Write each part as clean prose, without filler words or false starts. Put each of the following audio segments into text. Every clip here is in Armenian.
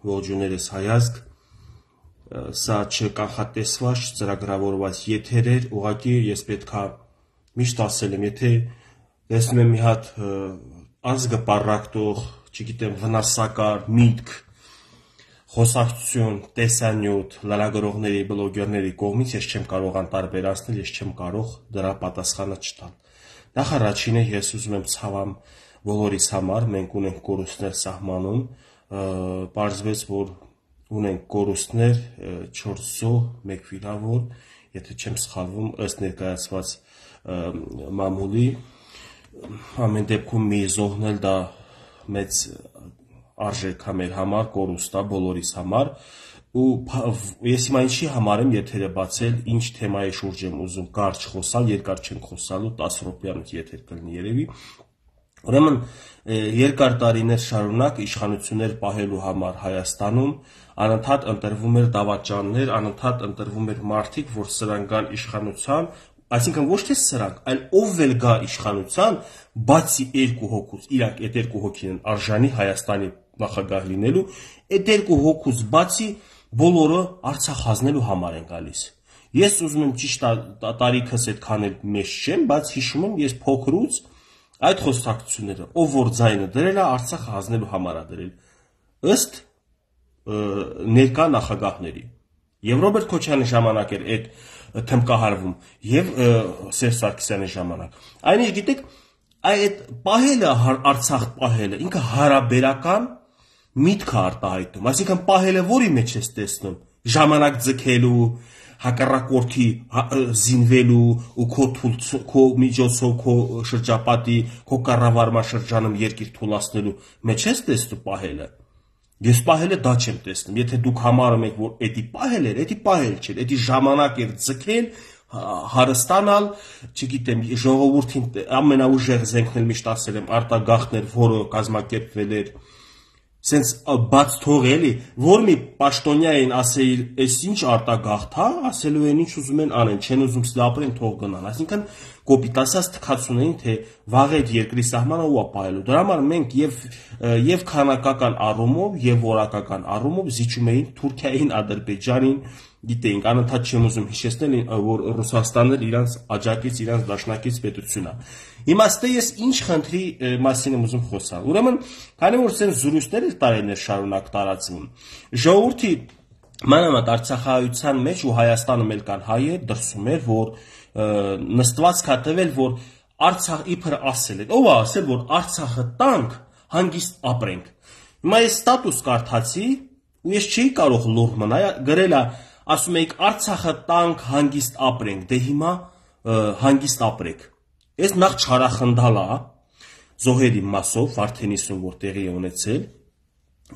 ողջուներս հայազգ, սա չկանխատեսված, ծրագրավորված եթեր էր, ուղղակի ես պետք է միշտ ասել եմ, եթե տեսնում եմ մի հատ ազգը պառակտող, չգիտեմ, վնասակար, միտք, խոսակցություն, տեսանյութ, լրագրողների, բլոգերների կողմից ես չեմ կարող անտարբերացնել, ես չեմ կարող դրա պատասխանը չտալ։ Նախ առաջինը ես ուզում եմ ցավամ բոլորիս համար, մենք ունենք կորուստներ սահմանում, պարզվեց, որ ունենք կորուստներ 4 զոհ, 1 վիրավոր, եթե չեմ սխալվում, ըստ ներկայացված մամուլի, ամեն դեպքում մի զոհն էլ դա մեծ արժեք է մեր համար, կորուստ է բոլորիս համար, ու ես հիմա ինչի համար եմ եթերը բացել, ինչ թեմայի շուրջ եմ ուզում կարճ խոսալ, երկար չենք խոսալու, 10 րոպեանոց եթեր կլինի երևի։ Ուրեմն երկար տարիներ շարունակ իշխանություններ պահելու համար Հայաստանում անընդհատ ընտրվում էր դավաճաններ, անընդհատ ընտրվում էր մարդիկ, որ սրանք գան իշխանության, այսինքն ոչ թե սրանք, այլ ով էլ գա իշխանության, բացի երկու հոգուց, իրանք այդ երկու հոգին են արժանի Հայաստանի նախագահ լինելու, այդ երկու հոգուց բացի բոլորը Արցախ հանձնելու համար են գալիս։ Ես ուզում եմ ճիշտ տարիքս այդքան էլ մեծ չեմ, բայց հիշում եմ ես փոքրուց այդ խոսակցությունները, ով որ ձայնը դրել է, Արցախը հանձնելու համար է դրել, ըստ ներկա նախագահների։ Եվ Ռոբերտ Քոչյանի ժամանակ էր այդ թմկահարվում, եւ Սերժ Սարգսյանի ժամանակ։ Այնինչ գիտեք, այդ պահելը Արցախ պահելը ինքը հարաբերական միտք է արտահայտում, այսինքն պահելը որի մեջ ես տեսնում, ժամանակ ձգելու, հակառակորդի զինվելու ու քո միջոցով քո շրջապատի, քո կառավարման շրջանում երկիր թուլացնելու մեջ ես տեսնում պահելը։ Ես պահելը դա չեմ տեսնում, եթե դուք համարում եք, որ էդի պահել էր, էդի պահել չէր, էդի ժամանակ էր ձգել, հարստանալ, չգիտեմ, ժողովրդին ամենաուժեղ զենքն էլ միշտ ասել եմ, արտագաղթներ, որը կազմակերպվել էր, սենց բաց թող էլի, որ մի պաշտոնյային ասեիր, այս ինչ արտագաղթ է, ասելու են ինչ ուզում են անեն, չեն ուզում ապրեն, թող գնան, այսինքն կոպիտ ասած թքացուն էին, թե վաղ այդ երկրի սահմանը ու ապահելու։ Դրա համար մենք եւ քանակական առումով եւ որակական առումով զիջում էին Թուրքիային, Ադրբեջանին, գիտեինք, անընդհատ չեմ ուզում հիշեցնել, որ Ռուսաստանն էլ իրանց աջակից, իրանց դաշնակից պետություն է։ Իմաստը ես ինչ խնդրի մասին եմ ուզում խոսալ։ Ուրեմն, քանի որ սենց զրույցներ տարիներ շարունակ տարածվում, ժողովրդի մանավանդ Արցախահայության մեջ ու Հայաստանում էլ կան հայեր, դրսում էր, որ նստվածք է տվել, որ Արցախ իբր ասել է, ով է ասել, որ Արցախը տանք, հանգիստ ապրենք։ Հիմա ես ստատուս կարդացի, ու ես չէի կարող լուռ մնալ, գրել է, ասում էիք Արցախը տանք, հանգիստ ապրենք, դե հիմա հանգիստ ապրեք։ Ես նախ չարախնդալ է, զոհերի մասով, Վարդենիսում որ տեղի է ունեցել,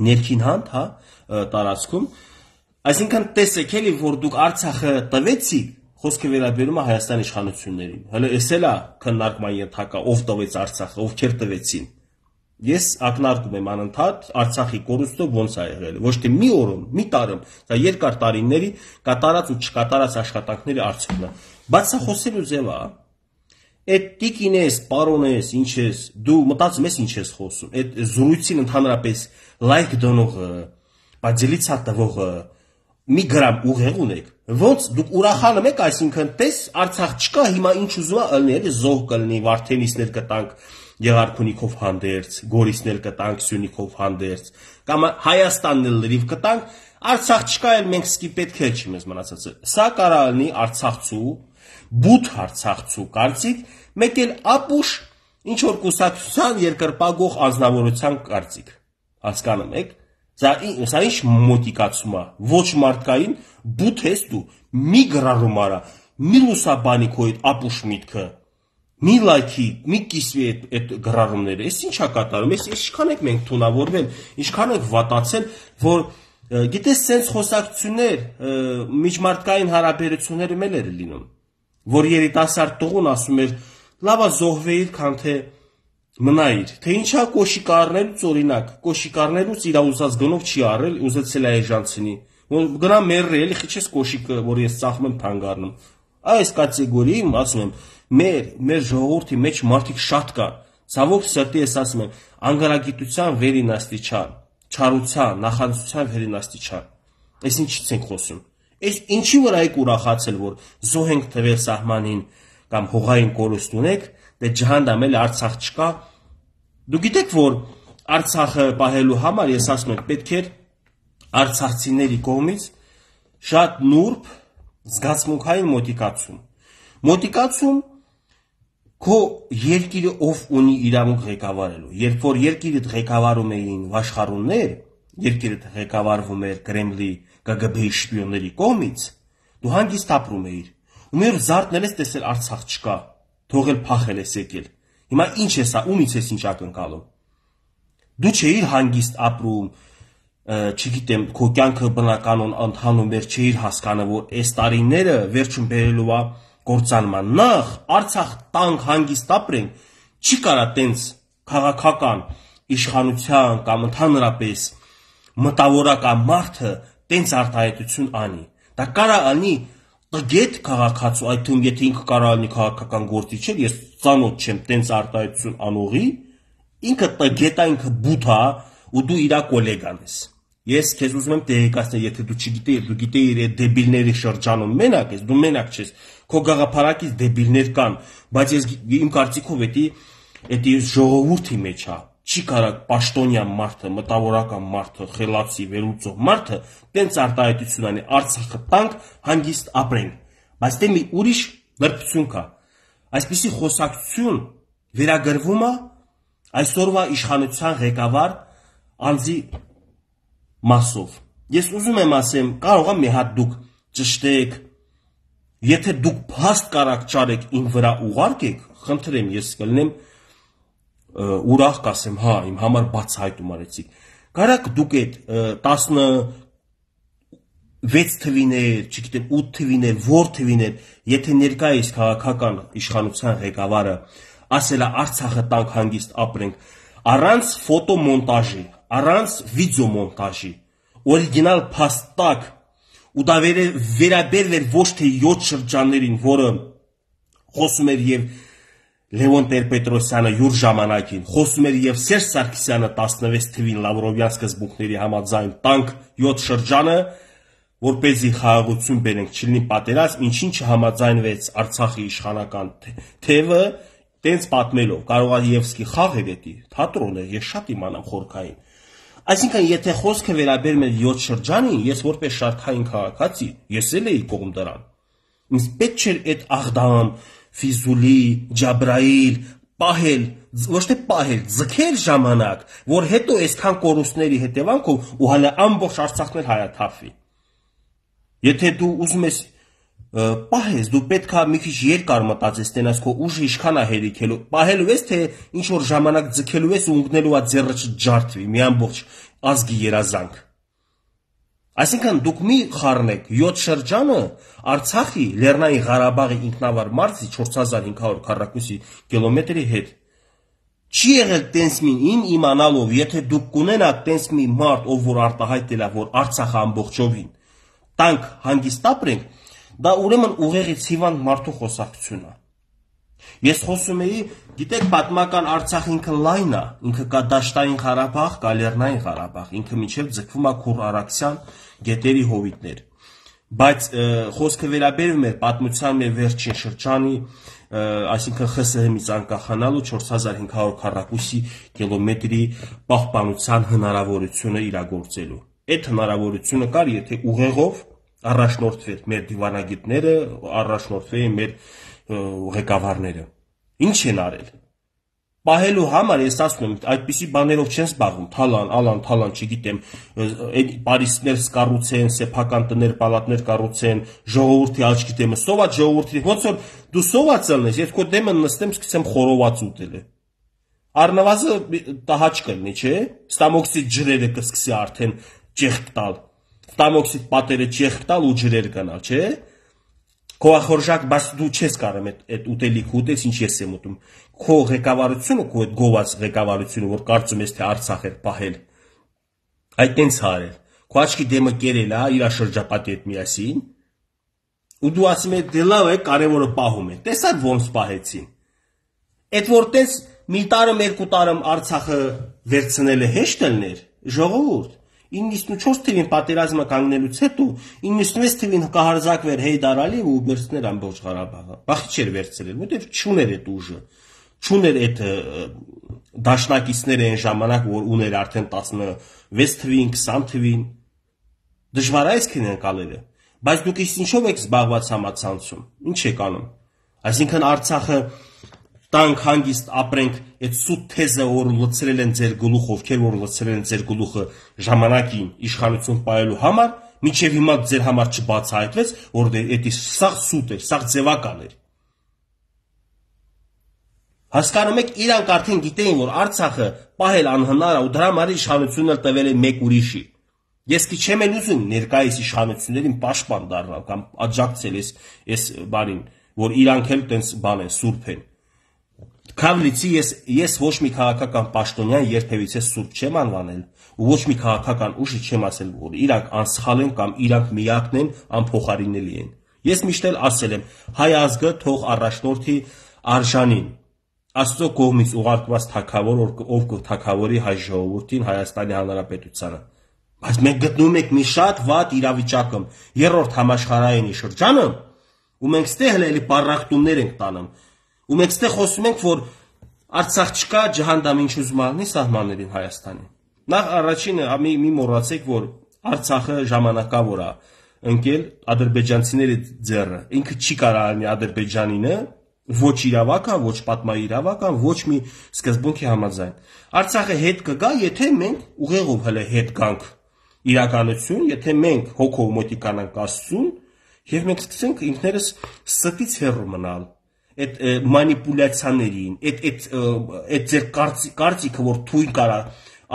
ներքին հանդ, հա, տարածքում, այսինքն տեսեք էլի, որ դուք Արցախը տվեցիք, խոսքը վերաբերում է Հայաստանի իշխանություններին, հələ էս էլ է քննարկման ենթակա, ով տվեց Արցախը, ովքեր տվեցին։ Ես ակնարկում եմ անընդհատ Արցախի կորուստը ոնց է եղել, ոչ թե մի օրում, մի տարում, դա երկար տարիների կատարած ու չկատարած աշխատանքների արդյունքն է։ Բայց սա խոսելու ձև է, այդ տիկին ես, պարոն ես, ինչ ես, դու մտածում ես ինչ ես խոսում, այդ զրույցին ընդհանրապես լայք դնողը, բաժելիցա տվողը, մի գրամ ուղեղ ունեք, ոնց դուք ուրախանում եք, այսինքն տես Արցախ չկա, հիմա ինչ ուզում է ըլնի, էլի զոհ կլինի, Վարդենիսներ կտանք Եղարքունիքով հանդերձ, Գորիսներ կտանք Սյունիքով հանդերձ, կամ Հայաստանն էլ լրիվ կտանք, Արցախ չկա, էլ մենք սկի պետք է չի մեզ մնացածը։ Սա կարա լինի Արցախցու, բութ Արցախցու կարծիք, մեկ էլ ապուշ ինչ որ կուսակցության երկրպագող անձնավորության կարծիք։ Հասկանում եք։ Սա ինչ մոտիկացում է, ոչ մարդկային, բութ ես դու, մի գրառում արա, մի լուսաբանի քո այդ ապուշ միտքը, մի լայքի, մի կիսվի այդ գրառումները, ես ինչ է կատարում, ես ինչքան եք մենք թունավորվել, ինչքան եք վատացել, որ գիտես սենց խոսակցություններ, միջմարտկային հարաբերություններում էլ էր լինում, որ երիտասարդ տղուն ասում էր, լավա զոհվեիր, քան թե մնայիր, թե ինչա կոշիկարներուց օրինակ, կոշիկարներուց իր ուզած գնով չի առել, ուզեցել է էժանցնի, գնա մերրի, էլի խիչես կոշիկը, որ ես ծախում եմ թանգարնում, այս կատեգորիում, ասում եմ, մեր ժողովրդի մեջ մարդիկ շատ կան, ցավոք սրտի ես ասում եմ, անգարագիտության վերին աստիճան, չարության, նախանձության վերինաստիճան։ Այս ինչից ենք խոսում։ Այս ինչի վրա եք ուրախացել, որ զոհ ենք թվել սահմանին կամ հողային կորուստ ունեք, դե ջհանդամ էլ Արցախ չկա։ Դու գիտեք, որ Արցախը պահելու համար, ես ասում եմ, պետք է արցախցիների կողմից շատ նուրբ զգացմունքային մոտիկացում քո երկիրը ով ունի իրավունք ղեկավարելու։ Երբ որ երկիրը ղեկավարում էին վաշխառուններ, երկիրը ղեկավարվում էր Կրեմլի ԿԳԲ-ի շպիոնների կողմից, դու հանգիստ ապրում էիր։ Ու մի օր զարթնել ես, տեսել Արցախ չկա, թողել փախել ես եկել։ Հիմա ինչ է սա, ումից ես ինչ ակնկալում։ Դու չէիր հանգիստ ապրում, չգիտեմ, քո կյանքը բնականon ընթանում էր, չէիր հասկանում, որ այս տարիները վերջում բերելու է կործանման։ Նախ Արցախ տանք հանգիստ ապրենք, չի կարա տենց քաղաքական իշխանության կամ ընդհանրապես մտավորական մարդը տենց արտահայտություն անի։ Դա կարա անի տգետ քաղաքացու, այդ թվում եթե ինքը կարա անի քաղաքական գործիչ էր, ես ծանոթ չեմ տենց արտահայտություն անողի, ինքը տգետ է, ինքը բութ է ու դու իրա կոլեգան ես։ Ես քեզ ուզում եմ տեղեկացնել, եթե դու չգիտեիր, դու գիտեիր այդ դեբիլների շրջանում մենակ ես, դու մենակ չես, քո գաղափարակից դեբիլներ կան, բայց ես իմ կարծիքով էդի ժողովրդի մեջ է, չի կարա պաշտոնյան մարդը, մտավորական մարդը, խելացի, վերլուծող մարդը տենց արտահայտություն անի, Արցախը տանք, հանգիստ ապրենք, բայց դե մի ուրիշ լրբություն կա, այսպիսի խոսակցություն վերագրվում է այսօրվա իշխանության ղեկավար անձի մասով։ Ես ուզում եմ ասեմ, կարող եմ մի հատ դուք ճշտեք, եթե դուք փաստ կարաք ճարեք իմ վրա ուղարկեք, խնդրեմ, ես կլինեմ ուրախ կասեմ, հա, իմ համար բացահայտում արեցիք։ Կարաք դուք այդ 16 թվիներ, չգիտեմ 8 թվիներ, որ թվիներ, եթե ներկայիս քաղաքական իշխանության ղեկավարը ասել է Արցախը տանք հանգիստ ապրենք, առանց ֆոտոմոնտաժի, առանց վիդեոմոնտաժի, օրիգինալ փաստակ, ու դա վերաբերվեր ոչ թե 7 շրջաններին, որը խոսում էր եւ Լևոն Տեր-Պետրոսյանը յուր ժամանակին, խոսում էր եւ Սերժ Սարգսյանը 16 թվին Լավրովյան սկզբունքների համաձայն տանք 7 շրջանը, որպեսզի խաղաղություն բերենք, չլինի պատերազմ, ինչին չհամաձայնվեց Արցախի իշխանական թևը, տենց պատմելով, կարող է Եվսկի խաղ էր էդի, թատրոն է, ես շատ իմանամ խորքային։ Այսինքն, եթե խոսքը վերաբերում է 7 շրջանին, ես որպես շարքային քաղաքացի, ես էլ էի կողմ դրան։ Ինձ պետք չէր այդ Աղդամ, Ֆիզուլի, Ջաբրայիլ, պահել, ոչ թե պահել, ձգել ժամանակ, որ հետո այսքան կորուստների հետևանքով ու հələ ամբողջ Արցախն էլ հայաթափվի։ Եթե դու ուզում ես պահես, դու պետք է մի քիչ երկար մտածես, տենաս քո ուժը ինչքան է հերիքելու, պահելու ես, թե ինչ որ ժամանակ ձգելու ես ու ընկնելու է ձեռը չջարդվի, մի ամբողջ ազգի երազանք։ Այսինքն դուք մի խառնեք 7 շրջանը Արցախի Լեռնային Ղարաբաղի ինքնավար մարզի 4500 քառակուսի կիլոմետրի հետ։ Չի եղել տենց մին իմանալով, եթե դուք կունենաք տենց մի մարդ, ով որ արտահայտել է, որ Արցախը ամբողջովին տանք հանգիստ ապրենք, դա ուրեմն ուղեղից հիվանդ մարդու խոսակցություն է։ Ես խոսում էի, գիտեք, պատմական Արցախ ինքը լայն է, ինքը կա Դաշտային Ղարաբաղ, կա Լեռնային Ղարաբաղ, ինքը միջև ձգվում է Քուր Արաքսյան գետերի հովիտներ։ Բայց խոսքը վերաբերում է պատմության մեր վերջին շրջանի, այսինքն ԽՍՀՄ-ից անկախանալու 4500 քառակուսի կիլոմետրի պահպանության հնարավորությունը իրագործելու։ Այդ հնարավորությունը կար, եթե ուղեղով առաջնորդվեր մեր դիվանագետները, առաջնորդվեին մեր ղեկավարները։ Ինչ են արել։ Պահելու համար ես ասում եմ, այդպիսի բաներով չեն զբաղվում, թալան, չգիտեմ, այդ Պարիսներ կառուցեն, սեփական տներ, պալատներ կառուցեն, ժողովրդի աչքի դեմը, սոված ժողովրդի, ոնց որ դու սոված ելնես, ես քո դեմը նստեմ, սկսեմ խորոված ուտել։ Առնվազը տահաճ կլինի, չէ՞։ Ստամոքսիդ ջրերը կսկսի արդեն ճեղք տալ։ Ստամոքսիդ պատերը ճեղք տալ ու ջրեր գնալ, չէ՞։ Քո ախորժակ, բայց դու չես կարող այդ ուտելիքը ուտես, ինչ ես եմ ուտում։ Քո ղեկավարությունը, քո այդ գոված ղեկավարությունը, որ կարծում ես թե Արցախ է պահել, այդ տենց հարել։ Քո աչքի դեմը կերել է իր շրջապատի հետ միասին, ու դու ասում ես դե լավ է, կարևորը պահում է։ Տեսա՞ք ոնց պահեցին։ Այդ որ տես մի տարում, երկու տարում Արցախը վերցնելը հեշտ ելներ, ժողովուրդ, 94 թվին պատերազմը կանգնելուց հետո 96 թվին կհարձակվեր Հեյդար Ալիևը ու վերցներ ամբողջ Ղարաբաղը։ Բախի չէր վերցրել, որտեղ չուներ այդ ուժը, չուներ այդ դաշնակիցները այն ժամանակ, որ ուներ արդեն 16 թվին, 20 թվին։ Դժվար է այսքան անցալերը։ Բայց դուք ինչով եք զբաղված համացանցում։ Ինչ եք անում։ Այսինքն Արցախը տանք հանգիստ ապրենք, այդ սուտ թեզը, որ լցրել են ձեր գլուխ, ովքեր որ լցրել են ձեր գլուխը ժամանակին իշխանություն պահելու համար, մինչև հիմա ձեր համար չբացահայտվեց, որ դա սաղ սուտ էր, սաղ ձևական էր։ Հասկանում եք, իրանք արդեն գիտեին, որ Արցախը պահել անհնար է ու դրա համար իշխանությունը տվել է մեկ ուրիշի։ Ես քիչ չեմ ուզում ներկայիս իշխանություններին պաշտպան դառնալ կամ աջակցել այս բանին, որ իրանք էլ տենց բան են, սուրբ են։ Քավլիցի ես ոչ մի քաղաքական պաշտոնյան երբևիցե սուրբ չեմ անվանել ու ոչ մի քաղաքական ուժի չեմ ասել, որ իրանք անսխալ են կամ իրանք միակն են, անփոխարինելի են։ Ես միշտ էլ ասել եմ, հայ ազգը թող առաջնորդի արժանին, Աստծո կողմից ուղարկված թագավոր, ով կթագավորի հայ ժողովրդին, Հայաստանի Հանրապետությանը։ Բայց մենք գտնում ենք մի շատ վատ իրավիճակում, երրորդ համաշխարհայինի շրջանը, ու մենք ստեղ էլի պարախտումներ ենք տանում, ու մենք ստեղ խոսում ենք, որ Արցախ չկա, ջհանդամ ինչ ուզում ալնի սահմաններին Հայաստանի։ Նախ առաջինը մի մոռացեք, որ Արցախը ժամանակավոր է ընկել ադրբեջանցիների ձեռը։ Ինքը չի կարող ալնի Ադրբեջանինը, ոչ իրավական, ոչ պատմաիրավական, ոչ մի սկզբունքի համաձայն։ Արցախը հետ կգա, եթե մենք ուղեղով հələ հետ գանք իրականություն, եթե մենք հոգով մոտիկանանք Աստծուն, եւ մենք սկսենք ինքներս ստից հեռու մնալ այդ մանիպուլյացիաներին, այդ ձեր կարծիքը, որ թույն կարա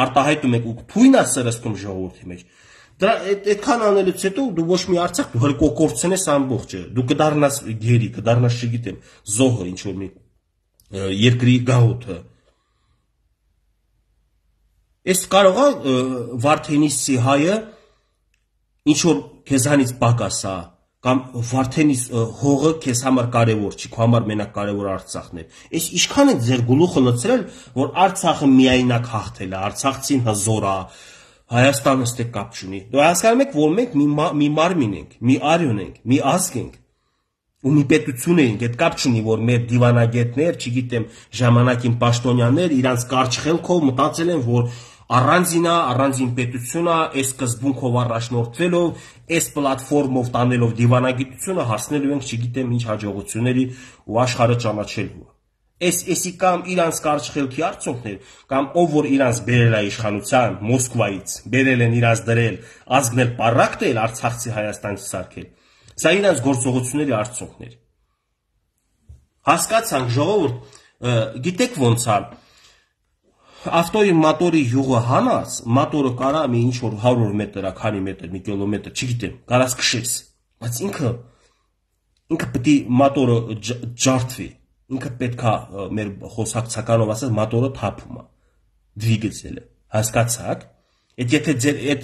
արտահայտում եք ու թույն է սրսկում ժողովրդի մեջ։ Դրա այդքան անելուց հետո դու ոչ մի Արցախ դու հələ կոկորցնես ամբողջը։ Դու կդառնաս գերի, կդառնաս, չգիտեմ, զոհը, ինչ որ մի երկրի գաղութը։ Այս կարող է Վարդենիսի հայը ինչ որ քեզանից պակաս է, կամ Վարդենիս հողը քեզ համար կարևոր չի, քո համար մենակ կարևոր Արցախն է։ Այս ինչքան է ձեր գլուխը լցրել, որ Արցախը միայնակ հաղթել է, արցախցին հզոր է, Հայաստանը ստե կապ չունի։ Դու հասկանում եք, որ մենք մի մարմին ենք, մի արյուն ենք, մի ազգ ենք ու մի պետություն ենք, այդ կապ չունի, որ մեր դիվանագետներ, չգիտեմ, ժամանակին պաշտոնյաներ իրանց կարճ խելքով մտածել են, որ առանձին պետություն է, այս սկզբունքով առաջնորդվելով, այս պլատֆորմով տանելով դիվանագիտությունը հասնելու ենք, չգիտեմ, ինչ հաջողությունների ու աշխարհը ճանաչելու։ Էսի կամ իրանց կարճ խելքի արդյունքներ, կամ ով որ իրանց բերել է իշխանության Մոսկվայից, բերել են իրանց դրել, ազգն էլ պարակտել Արցախցի Հայաստանից սարքել։ Սա իրանց գործողությունների արդյունքներ։ Հասկացանք, ժողովուրդ, գիտեք ոնց է, ավտոյի մոտորի յուղը հանած, մոտորը կարա մի ինչ որ 100 մետր, քանի մետր, մի կիլոմետր, չգիտեմ, կարաս քշես, բայց ինքը պետք է մոտորը ջարդվի, ինքը պետք է մեր խոսակցականով ասած մոտորը թափում է, դվիգեցել է, հասկացաք, եթե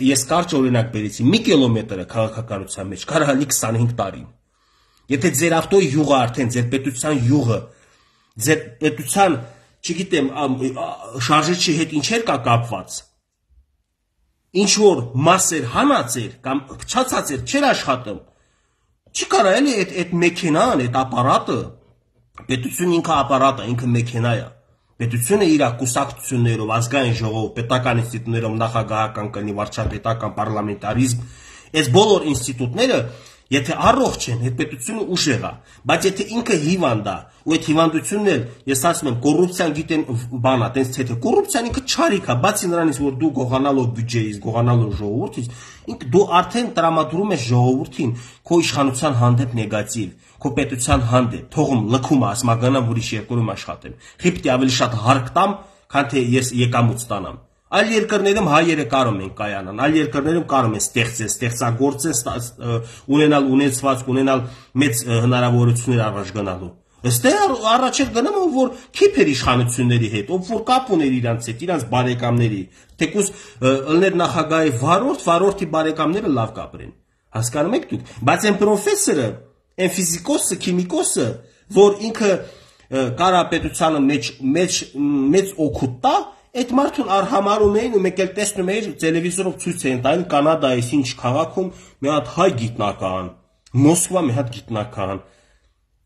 ես կարճ օրինակ բերեցի, մի կիլոմետրը քաղաքականության մեջ, կարա լի 25 տարին, եթե ձեր ավտոյի յուղը արդեն, ձեր պետության յուղը, ձեր պետության չգիտեմ, շարժիչի հետ ինչեր կա կապված, ինչ որ մասեր հանած էր կամ փչացած էր, չէր աշխատում, չի կարա էլի այդ մեքենան, այդ ապարատը, պետությունը ինքը ապարատ է, ինքը մեքենա է, պետությունը իր կուսակցություններով, ազգային ժողով, պետական ինստիտուտներով, նախագահական կնի, վարչապետական, պարլամենտարիզմ, այս բոլոր ինստիտուտները եթե առողջ են, այդ պետությունը ուժեղ է, բայց եթե ինքը հիվանդ է, ու այդ հիվանդությունն էլ, ես ասում եմ, կոռուպցիան գիտեն բան է, տենց թե կոռուպցիան ինքը չարիք է, բացի նրանից, որ դու գողանալով բյուջեից, գողանալով ժողովրդից, դու արդեն տրամադրում ես ժողովրդին քո իշխանության հանդեպ նեգատիվ, քո պետության հանդեպ, թողում լքում ասմագանամ ուրիշ երկրում աշխատեմ, խիպտի ավելի շատ հարկ տամ, քան թե ես եկամուտ ստանամ։ Այլ երկրներում հայերը կարող են կայանան, այլ երկրներում կարող են ստեղծեն, ստեղծագործեն, ունենալ ունեցվածք, ունենալ մեծ հնարավորություններ առաջ գնալու։ Այստեղ առաջ էր գնում, որ քիփեր իշխանությունների հետ, ով որ կապ ուներ իրանց հետ, իրանց բարեկամների, թեկուզ ըլներ նախագահի վարորդի բարեկամները լավ կապրեն։ Հասկանում եք դուք, բայց այն պրոֆեսորը, այն ֆիզիկոսը, քիմիկոսը, որ ինքը կարա պետությանը մեծ օգուտ տա, Այդ մարդուն արհամարում էին ու մեկ էլ տեսնում էիր տելևիզորով ցույց էին տալիս Կանադայից ինչ քաղաքում մի հատ հայ գիտնական, Մոսկվա մի հատ գիտնական,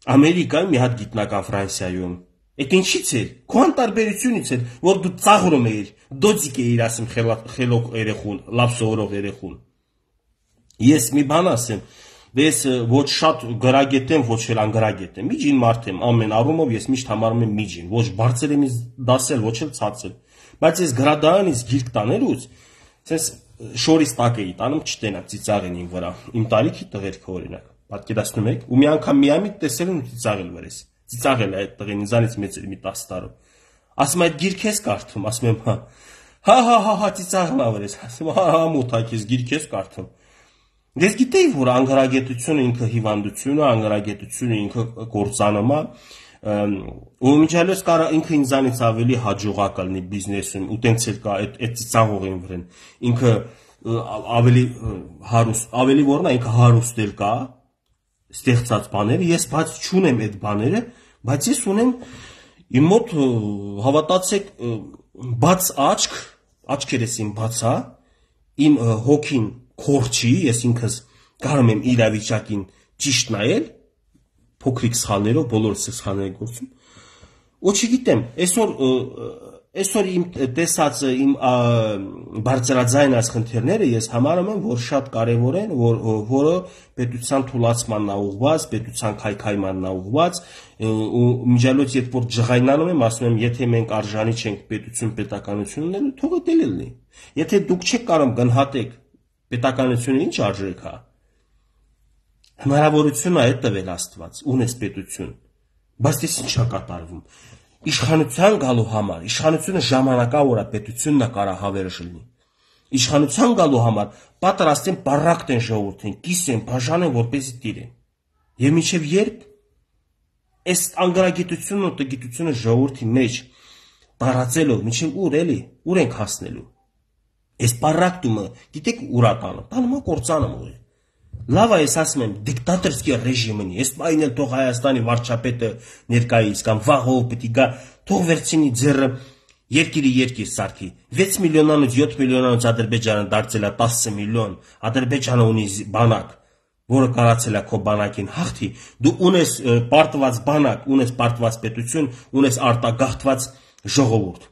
Ամերիկայում մի հատ գիտնական Ֆրանսիայում։ Այդ ինչից էր։ Քո անտարբերությունից էր, որ դու ծաղրում էիր, դոծիկ էիր ասում խելոք երեխուն, լավ սովորող երեխուն։ Ես մի բան ասեմ, ես ոչ շատ գրագետ եմ, ոչ էլ անգրագետ եմ։ Միջին մարդ եմ, ամեն առումով ես միշտ համարում եմ միջին, ոչ բարձր եմ դասել, ոչ էլ ցածր։ Բայց ես գրադարանից գիրք տաներուց, ասես շորից տակ էի տանում, չտենամ ծիծաղեն իմ վրա։ Իմ տարիքի տղերքը օրինակ, պատկերացնում եք, ու մի անգամ միամիտ տեսել եմ ծիծաղել վրես։ Ծիծաղել է այդ տղեն ինձանից մեծ էր մի 10 տարով։ Ասում այդ գիրք ես կարդում, ասում եմ հա ծիծաղնա վրես, ասում հա մութակ ես գիրք ես կարդում։ Ես գիտեի, որ անգարագետությունը ինքը հիվանդություն է, անգարագետությունը ինքը կործանում է, ու միջալոց կարա ինքը ինձանից ավելի հաջողակ լինի բիզնեսում, ու տենց էլ կա այդ ծիծաղողին վրան։ Ինքը ավելի հարուստ, ավելի որն է, ինքը հարուստ կա, ստեղծած բաները, ես բայց չունեմ այդ բաները, բայց ես ունեմ իմ մոտ հավատացեք բաց աչք, աչքերս իմ բացա, իմ հոգին քորչի, ես ինքս կարում եմ իրավիճակին ճիշտ նայել, փոքրիկ սխալներով, բոլորս սխալներ գործում, ու չգիտեմ, այսօր իմ տեսածը, իմ բարձրաձայն այս խնդիրները ես համարում եմ, որ շատ կարևոր են, որը պետության թուլացմանն է ուղղված, պետության քայքայմանն է ուղղված, ու միջալոց երբ որ ջղայնանում եմ, ասում եմ, եթե մենք արժանի չենք պետություն պետականություն ունենալու, թող դա լինի։ Եթե դուք չեք կարող գնահատեք պետականությունը ինչ արժեք է, հնարավորություն է տվել Աստված, ունես պետություն, բայց դες ինչ է կատարվում։ Իշխանության գալու համար, իշխանությունը ժամանակավոր է, պետությունն է կարա հավերժ լինի։ Իշխանության գալու համար պատրաստ են բարակտ են ժողովրդին, կիսեն, բաժանեն, որպեսզի տիրեն։ Եվ մինչև երբ այս անգարագիտությունն ու տգիտությունը ժողովրդի մեջ տարածելով, մինչև ուր էլի, ուր ենք հասնելու։ Այս բարակտումը, գիտեք ուր է տանում, տանում է կործանում ուղի։ Լավ է, ես ասում եմ, դիկտատորский ռեժիմն է, ես այն էլ թող Հայաստանի վարչապետը ներկայից կամ վաղով պետք է գա, թող վերցնի ձեռը երկիր սարքի։ 6 միլիոնանոց 7 միլիոնանոց Ադրբեջանը դարձել է 10 միլիոն, Ադրբեջանը ունի բանակ, որը կարացել է քո բանակին հաղթի, դու ունես պարտված բանակ, ունես պարտված պետություն, ունես արտագաղթված ժողովուրդ։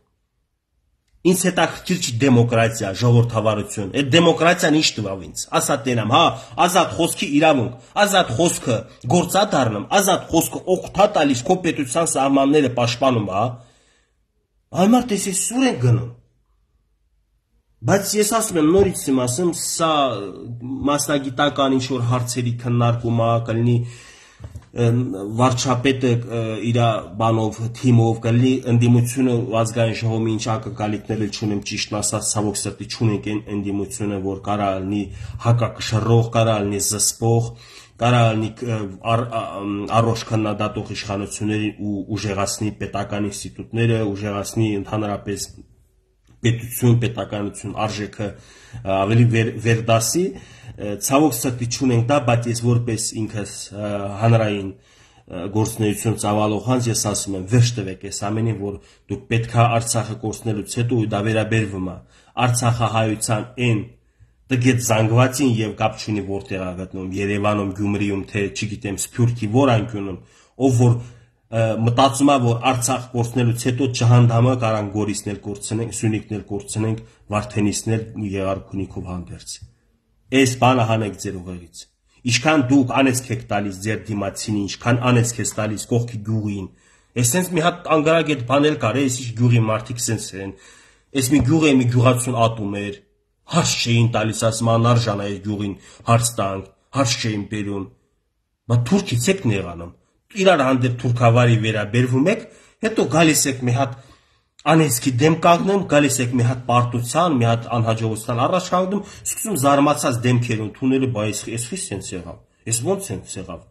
Ինձ հետաքրքիր չի դեմոկրատիա, ժողովրդավարություն։ Այդ դեմոկրատիան ինչ տվավ ինձ։ Ասա տենամ, հա, ազատ խոսքի իրավունք, ազատ խոսքը գործա դառնում, ազատ խոսքը օգտա տալիս քո պետության սահմանները պաշտպանում, հա։ Այմարտ ես սուր են գնում։ Բայց ես ասում եմ, նորից եմ ասում, սա մասնագիտական ինչ որ հարցերի քննարկում է, կլինի վարչապետը իր բանով, թիմով, կլինի ընդդիմությունը ազգային ժողովի ինչ ակնկալիքներ չունեմ, ճիշտն ասած, ցավոք սրտի չունենք այն ընդդիմությունը, որ կարա լինի հակակշռող, կարա լինի զսպող, կարա լինի առողջ քննադատող իշխանությունների ու ուժեղացնի պետական ինստիտուտները, ուժեղացնի ընդհանրապես պետություն, պետականություն, արժեքը ավելի վերդասի, ցավոք սրտի չունենք դա, բայց ես որպես ինքս հանրային գործունեություն ծավալող հանձ ես ասում եմ, վերջ տվեք այս ամենին, որ դուք պետքա Արցախը կորցնելուց հետո ու դա վերաբերվում է Արցախահայության այն տգետ զանգվածին եւ կապ չունի որտեղ է գտնվում, Երևանում, Գյումրիում, թե չգիտեմ, Սփյուռքի որ անկյունում, ով որ մտածում է, որ Արցախ կորցնելուց հետո ջհանդամը կարան Գորիսներ կորցնենք, Սյունիքներ կորցնենք, Վարդենիսներ Եղարքունիքով հանդերձ։ Այս բանը հանեք ձեր ուղեղից։ Ինչքան դուք անեցք եք տալիս ձեր դիմացին, ինչքան անեցք եք տալիս կողքի գյուղին։ Այսենց մի հատ անգարագետ բանել կար, այս ինչ գյուղի մարդիկ սենց են։ Այս մի գյուղ է, մի գյուղացուն ատում էր։ Հարց չէին տալիս, ասում անարժան է այս գյուղին հարց տանք, հարց չէին բերում։ Բայց թուրքից եք նեղանում։ Իրար հանդեպ թուրքավարի վերաբերվում եք, հետո գալիս եք մի հատ անեցքի դեմ կանգնում, գալիս եք մի հատ պարտության, մի հատ անհաջողության առաջ կանգնում, սկսում զարմացած դեմքեր ընդունելու, բայց այս խի սենց եղավ, այս ոնց սենց եղավ։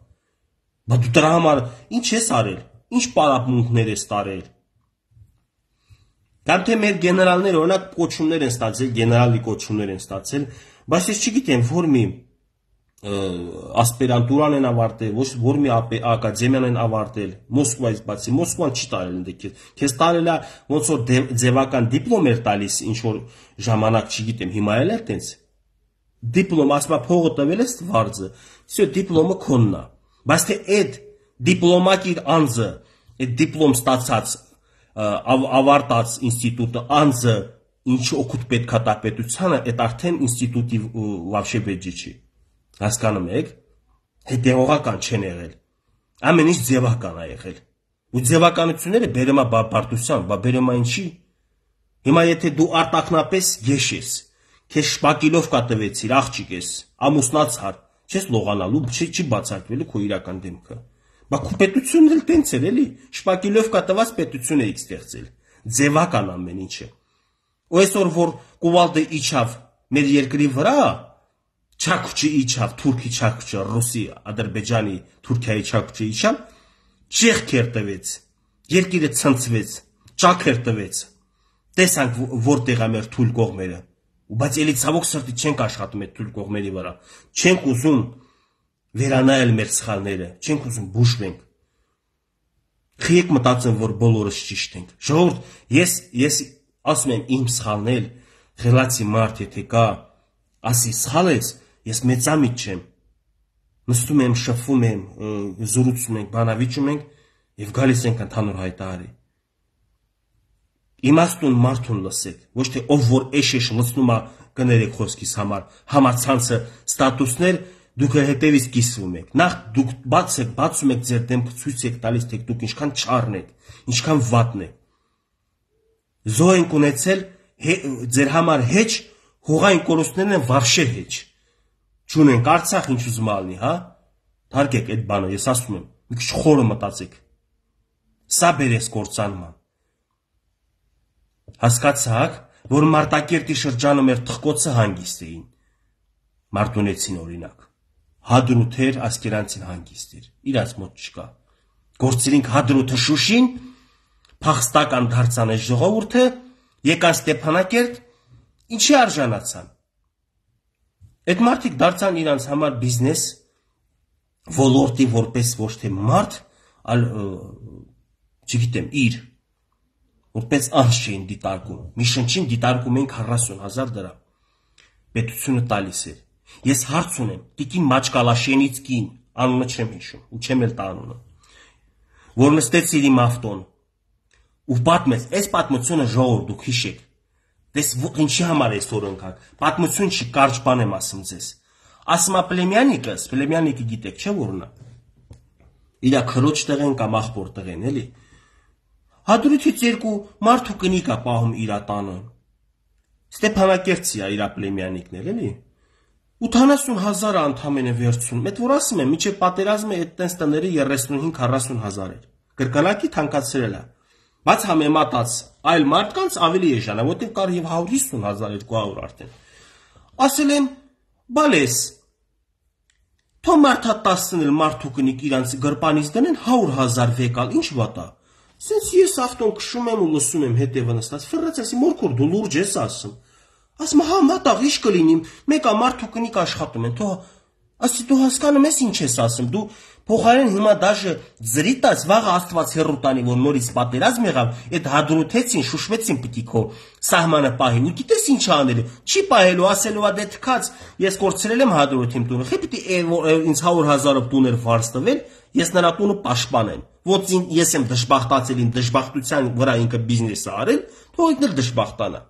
Բայց դու դրա համար ինչ ես արել, ինչ պարապմունքներ ես տարել։ Կամ թե մեր գեներալները օրինակ կոչումներ են ստացել, գեներալի կոչումներ են ստացել, բայց ես չգիտեմ, որ մի ասպիրանտուրան են ավարտել, ոչ մի ակադեմիան են ավարտել, Մոսկվայից բացի, Մոսկվան չի տարել ընդ քեզ տարել է ոնց որ ձևական դիպլոմ էր տալիս, ինչ որ ժամանակ, չգիտեմ, հիմա էլ է տենց։ Դիպլոմ, ասма փողը տվել ես վարձը, всё, դիպլոմը քոնն է։ Բայց թե այդ դիպլոմակիր անձը, այդ դիպլոմ ստացած ավարտած ինստիտուտը անձը ինչ օգուտ պետք է տա պետությանը, այդ արդեն ինստիտուտի вообще բեջի չի։ Հասկանում եք, հետևողական չեն եղել, ամեն ինչ ձևական է եղել, ու ձևականությունները բերում է բարդության, բերում է ինչի, հիմա եթե դու արտակնապես գեշ ես, քեզ շպակիլովկա տվեցիր, աղջիկ ես, ամուսնացար, չես լողանալու, չի բացարկվելու քո իրական դեմքը, բա քո պետությունն էլ տենց էր էլի, շպակիլովկա տված պետություն էիք ստեղծել, ձևական ամեն ինչը, ու այսօր որ կուվալդը իջավ մեր երկրի վրա, Չաքուչի իջավ, Թուրքի Չաքուչը, Ռուսի, Ադրբեջանի, Թուրքիայի Չաքուչը իջավ, ճեղքեր տվեց, երկիրը ցնցվեց, ճաքեր տվեց, տեսանք որտեղ է մեր թույլ կողմերը, բայց էլի ցավոք սրտի չենք աշխատում այդ թույլ կողմերի վրա, չենք ուզում վերանայել մեր սխալները, չենք ուզում բուժվենք, խիեք մտածեմ, որ բոլորս ճիշտ ենք, ժողովուրդ, ես ասում եմ իմ սխալն էլ, խելացի մարդ եթե կա, ասի սխալ ես, ես մեծամիտ չեմ, նստում եմ, շփվում եմ, զրուցում ենք, բանավիճում ենք եւ գալիս ենք ընդհանուր հայտարարի։ Իմաստուն մարդուն լսեք, ոչ թե ով որ էշ լցնում է կներեք խոսքիս համար, համացանցը ստատուսներ դուք հետևից կիսվում եք։ Նախ դուք բացում եք ձեր դեմքը, ցույց եք տալիս, թե դուք ինչքան չառն եք, ինչքան վատն եք։ Զոհ ենք ունեցել ձեր համար հեչ, հողային կորուստներն են վարշե հեչ։ Չունենք Արցախ ինչ ուզում ալնի, հա? Թարգեք այդ բանը, ես ասում եմ, մի քիչ խորը մտածեք։ Սա բերես կործանման։ Հասկացաք, որ Մարտակերտի շրջանում մեր թխկոցը հանգիստ էին։ Մարտունեցին օրինակ։ Հադրութեր ասկերանցին հանգիստ էր, իրաց մոտ չկա։ Գործերինք Հադրութը Շուշին, փախստական դարձան այս ժողովուրդը, եկան Ստեփանակերտ, ինչի արժանացան։ Այդ մարդիկ դարձան իրանց համար բիզնես ոլորտի որպես ոչ թե մարդ, այլ չգիտեմ, իր որպես անձ չէին դիտարկում։ Մի շնչին դիտարկում էին 40,000 դրամ։ Պետությունը տալիս էր։ Ես հարց ունեմ, տիկին Մաչկալաշենից կին, անունը չեմ հիշում, ու չեմ էլ տա անունը, որ նստեց իր իմ ավտոն, ու պատմեց, այս պատմությունը ժողովուրդ դուք հիշեք։ Դες ինչի համար այսօր ընկանք, պատմություն չի, կարճ բան եմ ասում ձեզ։ Ասում է Պլեմյանիկը գիտեք, չէ՞ որն է։ Իրա քրոջ տղեն կամ աղբոր տղեն, էլի։ Հադրութից երկու մարդու կնիկ է պահում իր տանը։ Ստեփանակերտցի է իր Պլեմյանիկն էլ, էլի։ 80,000 անդամեն է վերցնում։ Այդ որ ասում եմ, միջև պատերազմը այդ տենց տները 35-40,000 էր։ Կրկնակի թանկացրել է։ Բայց համեմատած այլ մարդկանց ավելի էժան է, որտեղ կար եւ 150,000, 200 արդեն։ Ասել եմ, բալես, թո մարդա 10-ն էլ մարդու կնիկ իրանց գրպանից դնեն 100,000 վեկալ, ինչ վատ է։ Սենց ես ավտոն քշում եմ ու լսում եմ հետևը նստած, ֆռռացի, մորքուր դու լուրջ ես ասում։ Ասում հա մատաղ ինչ կլինի, մեկա մարդու կնիկ աշխատում են, թո ասի դու հասկանում ես ինչ ես ասում, դու փոխարեն հիմա դաժե ձրի տաց վաղը Աստված հեռու տանի, որ նորից պատերազմ եղավ, այդ հադրութեցին, շուշվեցին պիտի քո սահմանը պահին, ու գիտես ինչ անել, չի պահելու, ասելու ա դե թքած, ես կորցրել եմ հադրութիմ տունը, խի պիտի ինձ 100,000-ով տուներ վարձ տվել, ես նրա տունը պաշտպանեմ, ոչ ես եմ դժբախտացել, իմ դժբախտության վրա ինքը բիզնես է արել, թող ինքն էլ դժբախտանա։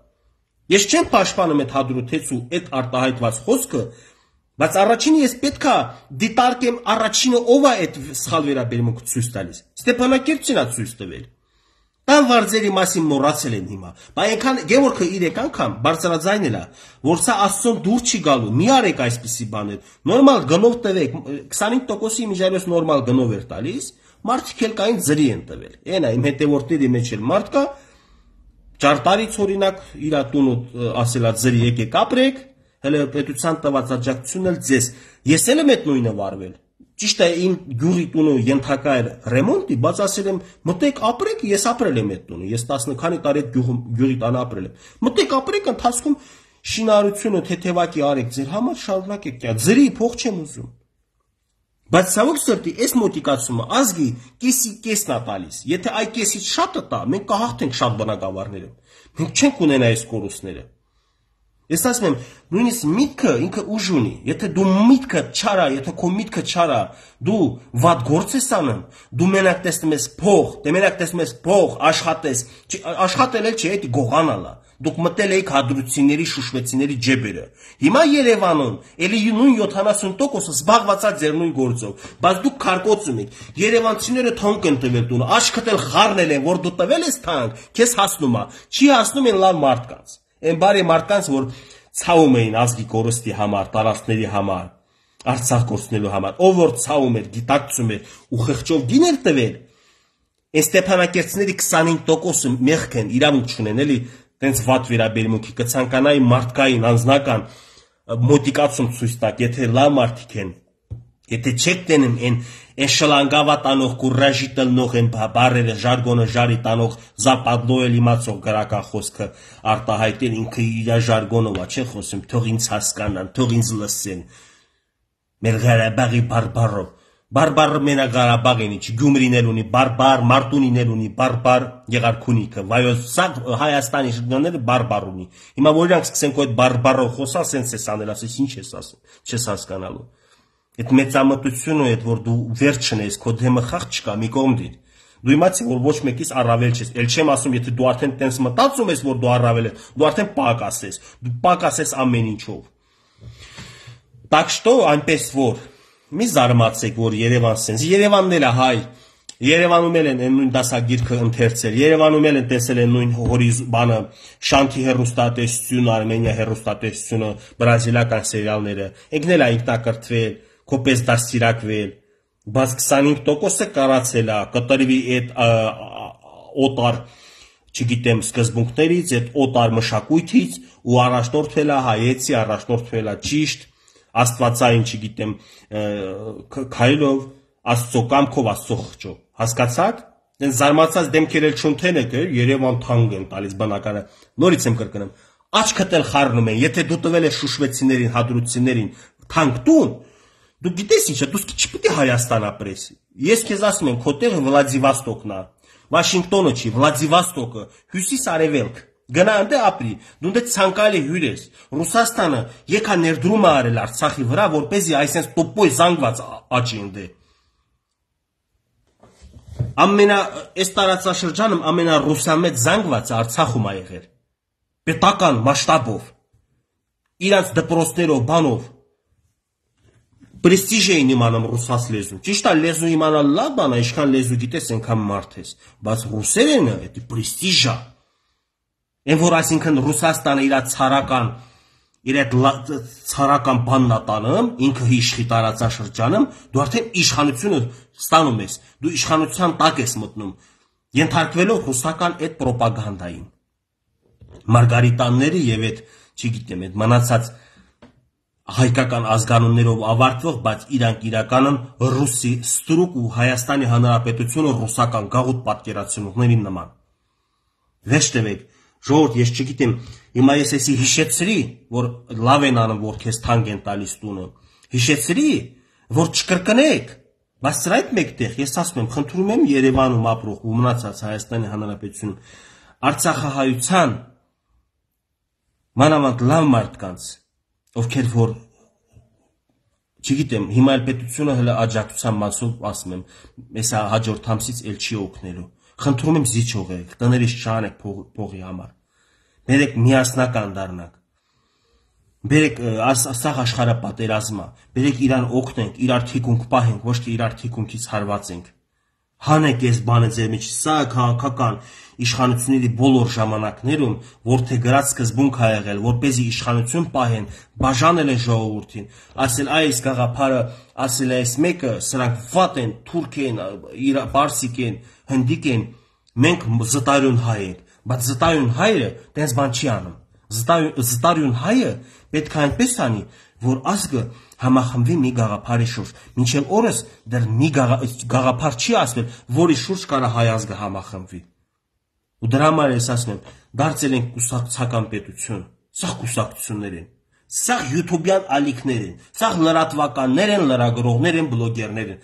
Ես չեմ պաշտպանում այդ հադրութեցու այդ արտահայտված խոսքը, բայց առաջինը ես պետքա դիտարկեմ առաջինը ով է այդ սխալ վերաբերմունքը ցույց տալիս։ Ստեփանակերտին է ցույց տվել։ Տան վարձերի մասին մոռացել են հիմա։ Բայց այնքան Գևորգը 3 անգամ բարձրաձայնել է, որ սա Աստծուն դուր չի գալու։ Մի արեք այսպիսի բաներ։ Նորմալ գնով տվեք, 25%-ի միջայլոց նորմալ գնով էր տալիս, մարդիկ էլ կային ձրի են տվել։ Էն է իմ հետևորդների մեջ էլ մարդ կա, ճարտարից օրինակ իր տունը ասելա ձրի եկեք ապրեք, հələ պետության տված աջակցությունն էլ ձեզ։ Ես էլ եմ այդ նույնը վարվել։ Ճիշտ է, իմ գյուղի տունը ենթակա էր ռեմոնտի, բայց ասել եմ մտեք ապրեք, ես ապրել եմ այդ տունը։ Ես 10 քանի տարի այդ գյուղի տանը ապրել եմ։ Մտեք ապրեք, ընթացքում շինարարությունը թեթևակի արեք ձեր համար, շարունակեք կյանք, ձրի փող չեմ ուզում։ Բայց ցավոք սրտի, այս մոտիկացումը ազգի կեսի կեսն է տալիս։ Եթե այ կեսից շատը տա, մենք կհաղթենք շատ բնակավարները։ Մենք չենք ունենա այս կորուստները։ Ես ասում եմ, նույնիսկ միտքը ինքը ուժ ունի։ Եթե դու միտքը չարա, եթե քո միտքը չարա, դու վատ գործ ես անում, դու մենակ տեսնում ես փող, դե մենակ տեսնում ես փող, աշխատես, աշխատել էլ չի, դա գողանալ է։ Դուք մտել եք հադրուցիների, շուշվեցիների ջեբերը։ Հիմա Երևանում էլի նույն 70% զբաղված է ձեր նույն գործով, բայց դուք քարկոծում եք։ Երևանցիները թանկ են տվել տունը, աչքդ էլ խառնել են, որ դու տվել ես թանկ, քեզ հասնում է։ Չի հասնում են լավ մարդկանց։ Այն բարի մարդկանց, որ ցավում էին ազգի կորստի համար, տարածքների համար, Արցախ կորցնելու համար, ով որ ցավում էր, գիտակցում էր ու խղճով գին էր տվել, այն Ստեփանակերտցիների 25%-ը մեղք են, իրավունք չունեն, էլի տենց վատ վերաբերմունքի կցանկանայի մարդկային, անձնական մոտիկացում ցույց տակ, եթե լավ մարդիկ են, եթե չեք տենում այն շլանգավա տանող, կուրաժի տնող են բարերը, ժարգոնը ժարի տանող, զապադլոել իմացող գրական խոսքը արտահայտել, ինքը իր ժարգոնով է, չէ խոսում, թող ինձ հասկանան, թող ինձ լսեն։ Մեր Ղարաբաղի բարբարով, բարբարը մենակ Ղարաբաղին չի, Գյումրին էլ ունի բարբար, Մարտունին էլ ունի բարբար, Եղարքունիքը, վայոց սա Հայաստանի շրջանները բարբար ունի։ Հիմա որ իրանք սկսենք այդ բարբարով խոսալ, սենց ես անել, ասես ինչ ես ասում, չես հասկանալու։ Այդ մեծամտությունը, այդ որ դու վերջն ես, քո դեմը խաղ չկա, մի կողմ դիր։ Դու իմացի, որ ոչ մեկից առավել չես։ Էլ չեմ ասում, եթե դու արդեն տենց մտածում ես, որ դու առավել ես, դու արդեն պակաս ես։ Դու պակաս ես ամեն ինչով։ Так что, այնպես որ մի զարմացեք, որ Երևան սենց, Երևանն էլ է հայ, Երևանում էլ են նույն դասագիրքը ընթերցել, Երևանում էլ են տեսել են նույն բանը, Շանթի հեռուստատեսությունը, Արմենիա հեռուստատեսությունը, բրազիլական սերիալները, եկնել է ինքնակրթվել, կոպես դաստիարակվել, բայց 25%-ը կարացել է, կտրվի այդ օտար, չգիտեմ, սկզբունքներից, այդ օտար մշակույթից ու առաջնորդվել է հայեցի, առաջնորդվել է ճիշտ, աստվածային, չգիտեմ, քայլով, Աստծո կամքով, Աստծո խղճով։ Հասկացաք։ Դեն զարմացած դեմքեր էլ չունենեք, Երևան թանկ են տալիս բնակարանը։ Նորից եմ կրկնում։ Աչքդ էլ խառնում են, եթե դու տվել ես շուշվեցիներին, հադրուցիներին թանկ տուն, դու գիտես ինչ է, դու չպիտի Հայաստան ապրես։ Ես քեզ ասում եմ, քո տեղը Վլադիվոստոկն է, Վաշինգտոնը չի, Վլադիվոստոկը, հյուսիս-արևելք։ Գնա այնտեղ ապրի, դու դե ցանկալի հյուր ես։ Ռուսաստանը եկա ներդրում է արել Արցախի վրա, որպեսզի այսպես տոպոյ զանգված աճի ընդե։ Այս տարածաշրջանում ամենառուսամետ զանգվածը Արցախում է եղել։ Պետական մասշտաբով։ Իրանց դպրոցներով, բանով։ Պրեստիժ էին իմանում ռուսաց լեզու։ Ճիշտ է, լեզու իմանալ լավ բան է, ինչքան լեզու գիտես, այնքան մարդ ես։ Բայց ռուսերենը, դա պրեստիժ է։ Այն որ այսինքն Ռուսաստանը իր ցարական բանն է տանում, ինքը իշխի տարածաշրջանում, դու արդեն իշխանությունը ստանում ես, դու իշխանության տակ ես մտնում, ենթարկվելով ռուսական այդ պրոպագանդային։ Մարգարիտանները եւ այդ, չգիտեմ, այդ մնացած հայկական ազգանուններով ավարտվող, բայց իրանք իրականում ռուսի ստրուկ ու Հայաստանի Հանրապետությունը ռուսական գաղութ պատկերացնողների նման։ Վեճ տվեք, ժողովուրդ, ես չգիտեմ, հիմա ես էսի հիշեցրի, որ լավ են անում, որ քեզ թանկ են տալիս տունը, հիշեցրի, որ չկրկնեք, բայց սրա այդ մեկտեղ, ես ասում եմ, խնդրում եմ Երևանում ապրող ու մնացած Հայաստանի Հանրապետությունում Արցախահայության մանավանդ լավ մարդկանց, ովքեր որ չգիտեմ, հիմա էլ պետությունը հələ աջակցության մասով ասում եմ, հեսա հաջորդ ամսից էլ չի օգնելու։ Խնդրում եմ զիջող եք, տներից չանեք փողի համար։ Բերեք միասնական դառնանք։ Բերեք սաղ աշխարհը պատերազմ է, բերեք իրան օգնենք, իրար թիկունք պահենք, ոչ թե իրար թիկունքից հարվածենք։ Հանեք այս բանը ձեր մեջ, սա քաղաքական իշխանությունների բոլոր ժամանակներում, որթե գրած սկզբունք ա եղել, որպեսզի իշխանություն պահեն, բաժանել են ժողովրդին, ասել այս գաղափարը, ասել այս մեկը, սրանք վատ են, թուրք են, պարսիկ են, հնդիկ են, մենք զտարյուն հայ ենք, բայց զտարյուն հայը տենց բան չի անում։ Զտարյուն հայը պետք է այնպես անի, որ ազգը համախմբվի մի գաղափարի շուրջ։ Մինչև օրս դեռ մի գաղափար չի ասվել, որի շուրջ կարա հայ ազգը համախմբվի։ Ու դրա համար ես ասում եմ, դարձել ենք կուսակցական պետություն։ Սա կուսակցություններ են, սա յութուբյան ալիքներ են, սա լրատվականներ են, լրագրողներ են, բլոգերներ են։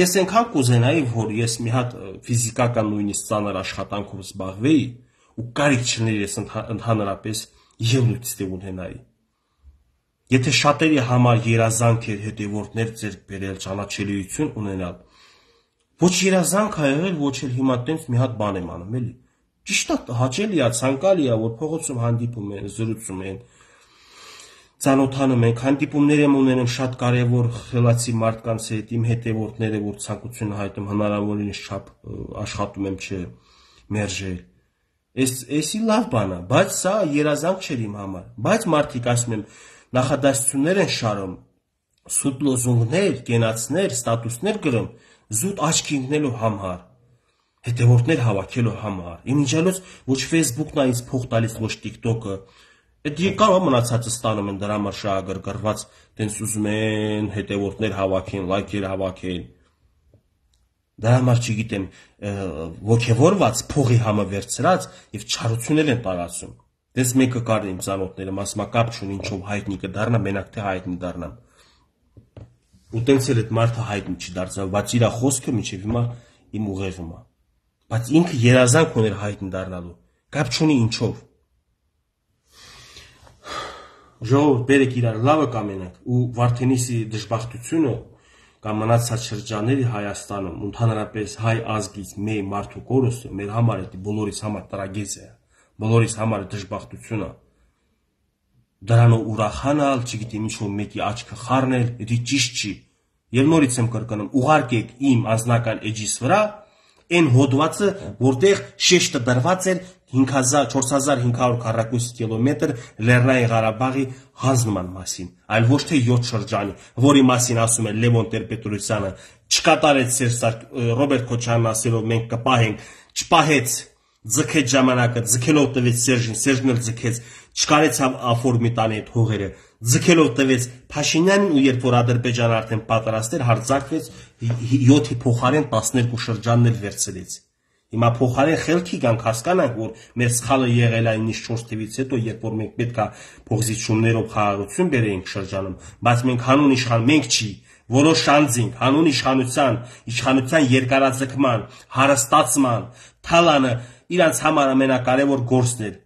Ես այնքան կուզենայի, որ ես մի հատ ֆիզիկական նույնիսկ ծանր աշխատանքով զբաղվեի ու կարիք չներ ես ընդհանրապես ելույթ ստեղ ունենայի։ Եթե շատերի համար երազանք էր հետևորդներ ձեռք բերել, ճանաչելիություն ունենալ, ոչ երազանք ա եղել, ոչ էլ հիմա տենց մի հատ բան եմ անում, էլի։ Ճիշտ է, հաճելի է, ցանկալի է, որ փողոցում հանդիպում են, զրուցում են, ծանոթանում ենք, հանդիպումներ եմ ունենում շատ կարևոր խելացի մարդկանց հետ, իմ հետևորդները, որ ցանկություն հայտնում հնարավորինս չափ աշխատում եմ չմերժել։ Էսի լավ բան է, բայց սա երազանք չէր իմ համար։ Բայց մարդիկ ասում եմ, նախադասություններ են շարում, սուտ լոզունգներ, կենացներ, ստատուսներ գրում, զուտ աչքի ընկնելու համար, հետևորդներ հավաքելու համար։ Իմ իմիջիալոց ոչ Facebook-ն է ինձ փող տալիս, ոչ TikTok-ը։ Այդ եկավ մնացածը ստանում են դրա համար շահագրգռված, տենց ուզում են հետևորդներ հավաքեն, լայքեր հավաքեն։ Դրա համար չգիտեմ, ոգևորված փողի համը վերցրած եւ չարություններ են տարածում։ Դες մեկը կար իմ ծանոթները, ասում կապ չունի ինչով հայտնի կդառնա, մենակ թե հայտնի դառնամ։ Ու տենց էլ այդ մարդը հայտնի չդարձավ, բայց իր խոսքը մինչև հիմա իմ ուղեղում է։ Բայց ինքը երազանք ուներ հայտնի դառնալու, կապ չունի ինչով։ Ժողովուրդ, բերեք իրար լավը կամենանք ու Վարդենիսի դժբախտությունը կամ մնացած շրջանների Հայաստանում, ընդհանրապես հայ ազգից մեր մարդու կորուստը մեր համար է, բոլորիս համար տրագեդիա է, բոլորիս համար դժբախտություն է։ Դրանով ուրախանալ, չգիտեմ ինչ-որ մեկի աչքը խառնել, դա ճիշտ չի։ Եվ նորից եմ կրկնում, ուղարկեք իմ անձնական էջիս վրա այն հոդվածը, որտեղ շեշտը դրված էր 4500 քառակուսի կիլոմետր Լեռնային Ղարաբաղի հանձնման մասին, այլ ոչ թե 7 շրջանի, որի մասին ասում է Լևոն Տեր-Պետրոսյանը, չկատարեց Ռոբերտ Քոչարյանն ասելով մենք կպահենք, չպահեց, ձգեց ժամանակը, ձգելով տվեց Սերժին, Սերժն էլ ձգեց, չկարեցավ աֆորմի տանի այդ հողերը, ձգելով տվեց Փաշինյանին ու երբ որ Ադրբեջանը արդեն պատրաստ էր, հարձակվեց 7-ի փոխարեն 12 շրջաններ վերցրեց։ Հիմա փոխարեն խելքի գանք հասկանանք, որ մեր սխալը եղել է 4 թվից հետո, երբ որ մենք պետք է փոխզիջումներով խաղաղություն բերեինք շրջանում, բայց մենք հանուն իշխան, մենք չի, որոշ անձինք հանուն իշխանության երկարաձգման, հարստացման, թալանը իրանց համար ամենակարևոր գործն էր։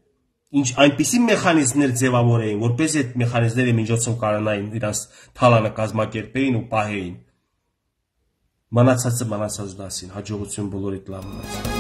Ինչ այնպիսի մեխանիզմներ ձևավորեին, որպես այդ մեխանիզմների միջոցով կարողանային իրանց թալանը կազմակերպեին ու պահեին։ Մնացածը մնացած դասին, հաջողություն բոլորիդ լավ մնաց։